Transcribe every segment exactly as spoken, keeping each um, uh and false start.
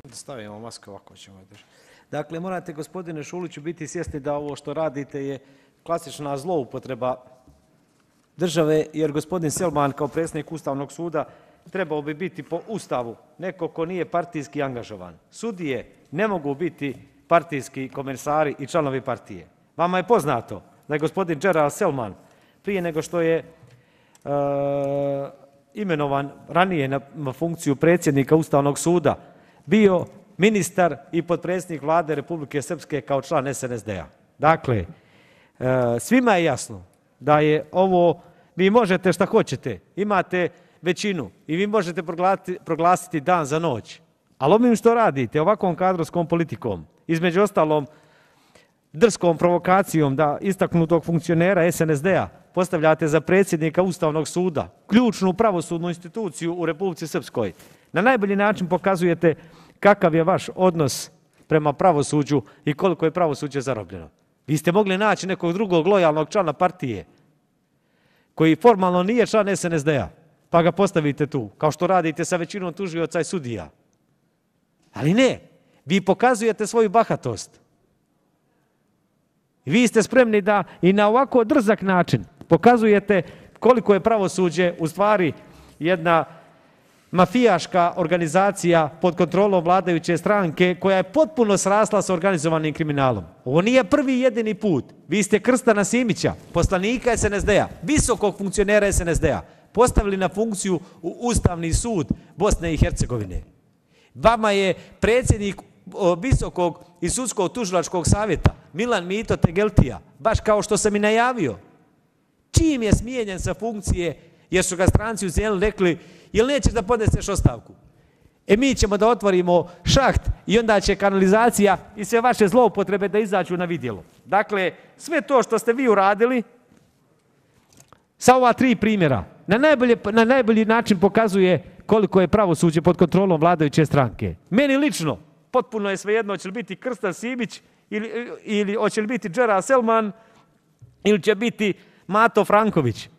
Stavimo masku, ovako ćemo držati. Dakle, morate, gospodine Šuliću, biti svjesni da ovo što radite je klasična zloupotreba države, jer gospodin Selman kao predsjednik Ustavnog suda trebao bi biti po Ustavu neko ko nije partijski angažovan. Sudije ne mogu biti partijski komesari i članovi partije. Vama je poznato da je gospodin Gerald Selman prije nego što je uh, imenovan ranije na funkciju predsjednika Ustavnog suda bio ministar i potpredsjednik Vlade Republike Srpske kao član es en es de a. Dakle, uh, svima je jasno da je ovo, vi možete šta hoćete, imate većinu i vi možete proglasiti, proglasiti dan za noć. Ali ovim što radite, ovakvom kadrovskom politikom, između ostalom drskom provokacijom da istaknutog funkcionera es en es de a postavljate za predsjednika Ustavnog suda, ključnu pravosudnu instituciju u Republici Srpskoj, na najbolji način pokazujete kakav je vaš odnos prema pravosuđu i koliko je pravosuđe zarobljeno. Vi ste mogli naći nekog drugog lojalnog člana partije koji formalno nije član es en es de a, pa ga postavite tu, kao što radite sa većinom tužioca i sudija. Ali ne, vi pokazujete svoju bahatost. Vi ste spremni da i na ovako drzak način pokazujete koliko je pravosuđe u stvari jedna mafijaška organizacija pod kontrolom vladajuće stranke koja je potpuno srasla sa organizovanim kriminalom. Ovo nije prvi i jedini put. Vi ste Krstana Simića, poslanika es en es de a, visokog funkcionera es en es de a, postavili na funkciju u Ustavni sud Bosne i Hercegovine. Vama je predsjednik visokog i sudskog tužilačkog savjeta Milan Mito Tegeltija, baš kao što sam i najavio, čim je smijenjen sa funkcije, jer su ga stranci u Zeleni rekli, jel nećeš da podneseš ostavku? E mi ćemo da otvorimo šaht i onda će kanalizacija i sve vaše zloupotrebe da izađu na vidjelo. Dakle, sve to što ste vi uradili, sa ova tri primjera, na, najbolje, na najbolji način pokazuje koliko je pravosuđe pod kontrolom vladajuće stranke. Meni lično, potpuno je svejedno, hoće li biti Krstan Simić ili, ili hoće li biti Gerald Selman ili će biti Mato Franković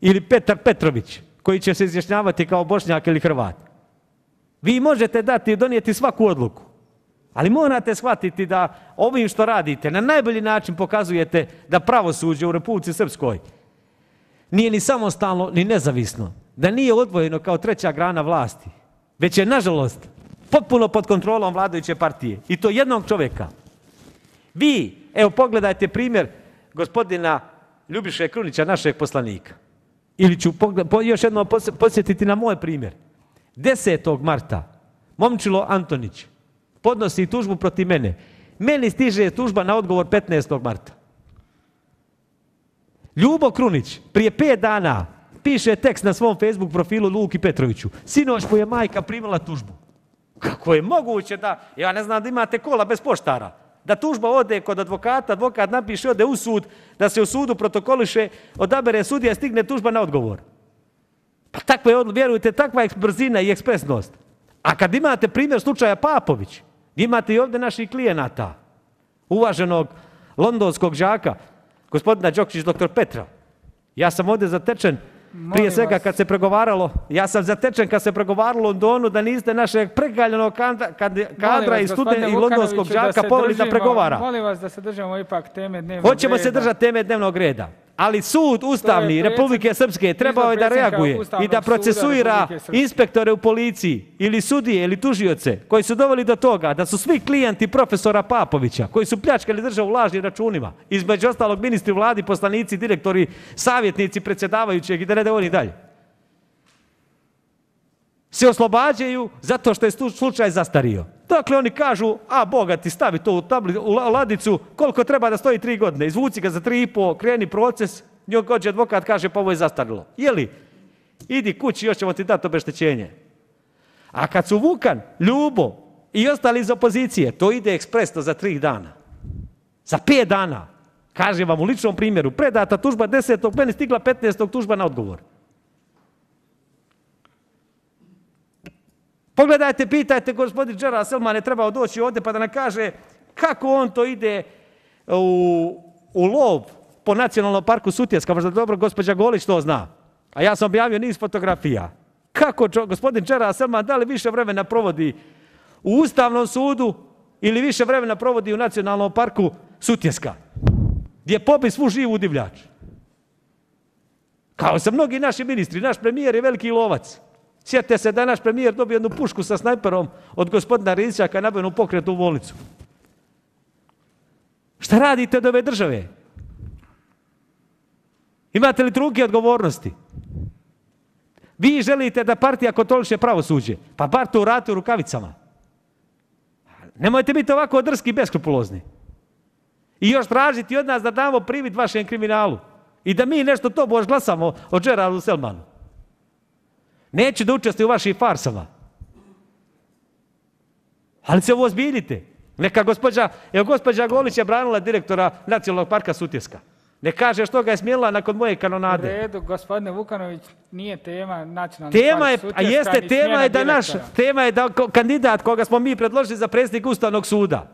ili Petar Petrović koji će se izjašnjavati kao Bošnjak ili Hrvat. Vi možete dati i donijeti svaku odluku, ali morate shvatiti da ovim što radite na najbolji način pokazujete da pravosuđe u Republici Srpskoj nije ni samostalno ni nezavisno, da nije odvojeno kao treća grana vlasti, već je nažalost potpuno pod kontrolom vladajuće partije i to jednog čovjeka. Vi, evo pogledajte primjer gospodina Ljubiše Krunića, našeg poslanika. Ili ću još jednom podsjetiti na moj primjer. desetog marta Momčilo Antonić podnosi tužbu protiv mene. Meni stiže tužba na odgovor petnaestog marta. Ljubo Krunić prije pet dana piše tekst na svom Facebook profilu Luki Petroviću. Sinoć mu je majka primila tužbu. Kako je moguće da, ja ne znam da imate kola bez poštara, da tužba ode kod advokata, advokat napiše, ode u sud, da se u sudu protokoliše, odabere sudija, stigne tužba na odgovor. Pa takva je, vjerujte, takva je brzina i ekspresnost. A kad imate primjer slučaja Papović, imate i ovdje naših klijenata, uvaženog londonskog đaka, gospodina Đokić, doktor Petra. Ja sam ovdje zatečen, prije svega kad se pregovaralo, ja sam zatečen kad se pregovaralo u Londonu da niste našeg pregaljenog kadra i studenta i londonskog đaka poveli da pregovara. Molim vas da se držimo ipak teme dnevnog reda. Hoćemo se držati teme dnevnog reda. Ali sud Ustavni Republike Srpske trebao je da reaguje i da procesuira inspektore u policiji ili sudije ili tužioce koji su doveli do toga da su svi klijenti profesora Papovića koji su pljačkali državu lažnim računima, između ostalog ministri vladi, poslanici, direktori, savjetnici, predsjedavajućeg i da ne devonim dalje, se oslobađaju zato što je slučaj zastario. Dakle, oni kažu, a Boga ti stavi to u, tabli, u ladicu, koliko treba da stoji tri godine, izvuci ga za tri i po, kreni proces, njog gođe advokat kaže, pa ovo je zastarilo. Jeli? Idi kući, još ćemo ti dati obeštećenje. A kad su Vukan, Ljubo i ostali iz opozicije, to ide ekspresno za tri dana. Za pet dana. Kažem vam u ličnom primjeru, predata tužba desetog, meni stigla petnaestog tužba na odgovor. Pogledajte, pitajte, gospodin Gerald Selman je trebao doći ovdje pa da nam kaže kako on to ide u, u lov po nacionalnom parku Sutjeska. Možda dobro gospođa Golić to zna. A ja sam objavio niz fotografija. Kako čo, gospodin Gerald Selman da li više vremena provodi u Ustavnom sudu ili više vremena provodi u Nacionalnom parku Sutjeska, gdje pobi svu živu divljač. Kao sa mnogi naši ministri, naš premijer je veliki lovac. Sjetite se da je naš premijer dobio jednu pušku sa snajperom od gospodina Rizića kad je nabavio pokret u bolnicu. Šta radite od ove države? Imate li trunke odgovornosti? Vi želite da partija kontroliše pravosuđe, pa bar to uradite u rukavicama. Nemojte biti ovako drski i beskrupulozni. I još tražiti od nas da damo privid vašem kriminalu. I da mi nešto to bož glasamo o Geraldu Selmanu. Neću da učestvujem u vašim farsama. Ali se uozbiljite. Neka gospođa, evo gospođa Golić je branila direktora Nacionalnog parka Sutjeska. Ne kaže što ga je smjela nakon moje kanonade. U redu, gospodine Vukanović, nije tema Nacionalni tema park je, Sutjeska, a jeste, ni tema je da smjena naš, direktora. tema je da kandidat koga smo mi predložili za predsjednik Ustavnog suda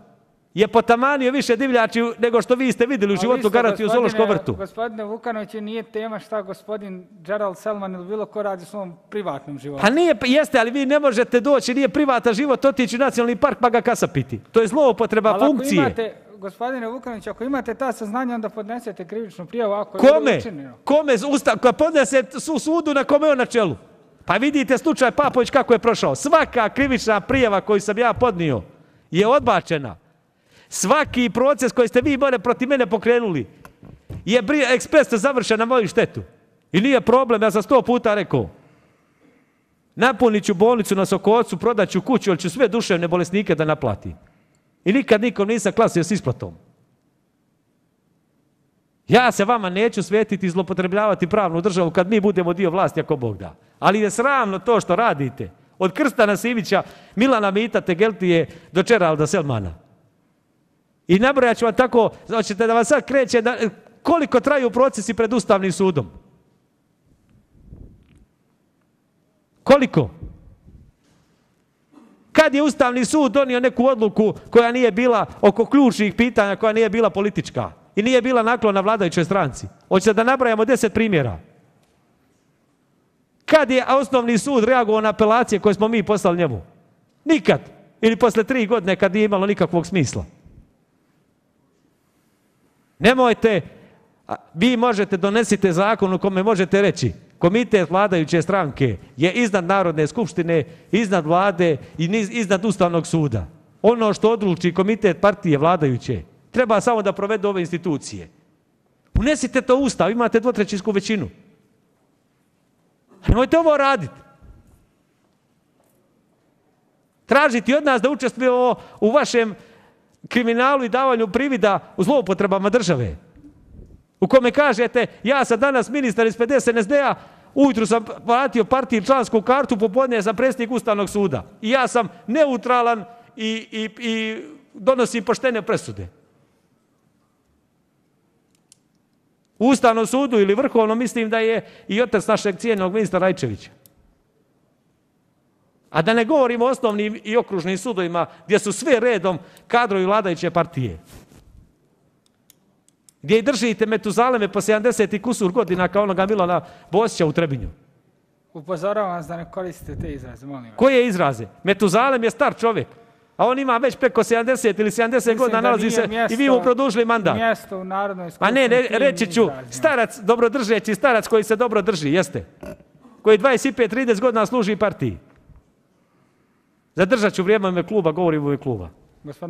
je potamanio više divljači nego što vi ste vidjeli u životu garati u Zoološkom vrtu. Gospodine Vukanović, nije tema šta gospodin Gerald Selman ili bilo ko radi u svom privatnom životu. Pa nije, jeste, ali vi ne možete doći, nije privatan život, otići u Nacionalni park pa ga kasapiti. To je zloupotreba ali funkcije. Ako imate, gospodine Vukanović, ako imate ta saznanja, onda podnesete krivičnu prijavu ako Kome? je učinjeno. Kome? Ustav, koja podnese su sudu na kome je on na čelu. Pa vidite slučaj Papović kako je prošao. Svaka krivična prijava koju sam ja podnio je odbačena. Svaki proces koji ste vi more protiv mene pokrenuli je ekspresno završen na moju štetu. I nije problem, ja sam sto puta rekao. Napunit ću bolnicu na Sokocu, prodat ću kuću, ali ću sve duševne bolesnike da naplatim. I nikad nikom nisam klasio s isplatom. Ja se vama neću svetiti i zlopotrebljavati pravnu državu kad mi budemo dio vlasti ako Bog da. Ali je sramno to što radite. Od Krstana Sivića, Milana Mita Tegeltije do Geralda Selmana. I nabrojat ću vam tako, hoćete da vam sad kreće, da, koliko traju procesi pred Ustavnim sudom? Koliko? Kad je Ustavni sud donio neku odluku koja nije bila oko ključnih pitanja, koja nije bila politička i nije bila naklona vladajućoj stranci? Hoćete da nabrajamo deset primjera? Kad je Osnovni sud reagovao na apelacije koje smo mi poslali njemu? Nikad. Ili posle tri godine kad nije imalo nikakvog smisla. Nemojte, vi možete donesite zakon u kome možete reći komitet vladajuće stranke je iznad Narodne skupštine, iznad vlade i iznad Ustavnog suda. Ono što odluči komitet partije vladajuće treba samo da provedu ove institucije. Unesite to u Ustav, imate dvotrećinsku većinu. Nemojte ovo raditi. Tražiti od nas da učestvujemo u vašem kriminalu i davanju privida u zloupotrebama države. U kome kažete, ja sam danas ministar iz pedeset en es de-a, ujutru sam platio partiji člansku kartu, popodne sam predsjednik Ustavnog suda. I ja sam neutralan i, i, i donosim poštene presude. U Ustavnom sudu ili Vrhovnom mislim da je i otac našeg cijenjenog ministra Rajčevića. A da ne govorimo o osnovnim i okružnim sudovima gdje su sve redom kadrovi vladajuće partije. Gdje i držite Metuzaleme po sedamdeset i kusur godina kao onoga Milana Bosića u Trebinju. Upozoravam vas da ne koristite te izraze, molim vas. Koje izraze? Metuzalem je star čovjek, a on ima već preko sedamdeset ili sedamdeset godina, nalazi se mjesto, i vi mu produžili mandat. Mjesto u Narodnoj skupštini. A ne, ne reći ću, starac, dobrodržeći starac koji se dobro drži, jeste. Koji dvadeset pet do trideset godina služi partiji. Zadržat ću vrijeme u ime kluba, govorim u ime kluba. Gospodine